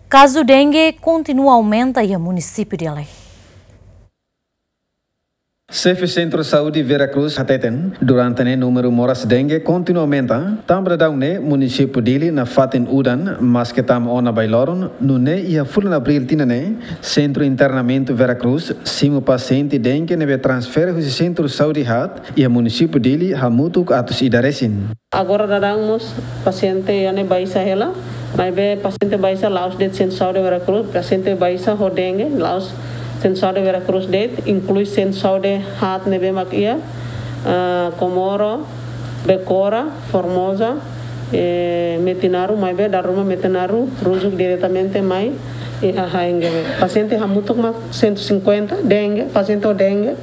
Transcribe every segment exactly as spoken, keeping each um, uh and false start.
Kazu dengue kontinua aumenta iha munisípiu Dili. Xefe Sentru Saúde Vera Cruz hateten, durante ne'e númeru moras dengue kontinua aumenta, tanba daudaun ne'e munisípiu Dili nafatin udan, maske tama ona ba iha loron, nune'e iha fulan Abríl tinan ne'e, Sentru Internamentu Vera Cruz simu pasiente dengue ne'ebé transfere husi Sentru Saúde haat iha munisípiu Dili hamutuk atus ida resin. Agora daudaun mós pasiente iha ne'e baixa hela, maibé pasiente baixa la'ós de'it Sentru Saúde Vera Cruz, pasiente baixa ho dengue la'ós Sentru Saúde Vera Cruz de'it, inklui Sentru Saúde haat ne'ebé mak iha, ah, Comoro, Becora, Formosa, eh, Metinaro, maibé dala ruma Metinaro, Ruzuk diretamente mai iha Haengewe. Pasiente hamutuk mak cento e cinquenta, dengue, pasiente ho dengue,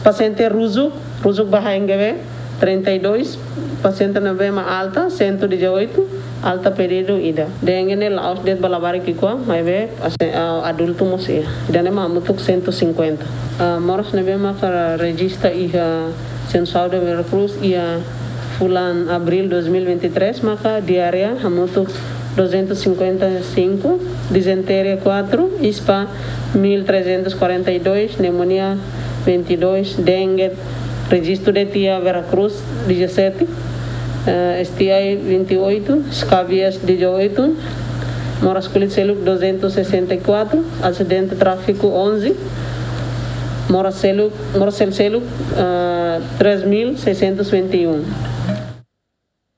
pasiente Ruzuk, Ruzuk ba Haengewe, trinta e dois, pasiente ne'ebé mak alta, cento e dezoito, alta pedidu ida. Dengue ne'e la'ós de'it ba labarik ki'ikoan, maibé, ah, adultu mós iha. Ida-ne'e mak hamutuk cento e cinquenta. Ah, moras ne'ebé maka rejista iha Sentru Saúde Vera Cruz iha fulan Abríl dois mil e vinte e três, maka diarreia hamutuk duzentos e cinquenta e cinco, dizenteria quatro, ispa mil trezentos e quarenta e dois, pneumonia vinte e dois, dengue, rejistu de'it iha Vera Cruz dezassete, eh, S T I vinte e oito, scabies dezoito, moras kulit seluk duzentos e sessenta e quatro, asidente tráfiku onze, moras seluk, moras sel seluk, eh, três mil seiscentos e vinte e um.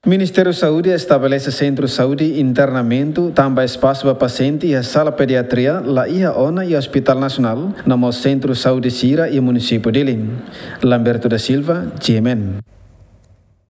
Ministériu Saúde estabelese Sentru Saúde Internamentu tanba espasu ba pasiente iha sala pediatria la iha ona iha Hospital Nasionál, no mós Sentru Saúde sira iha munisípiu Dili. Lamberto da Silva, G M N.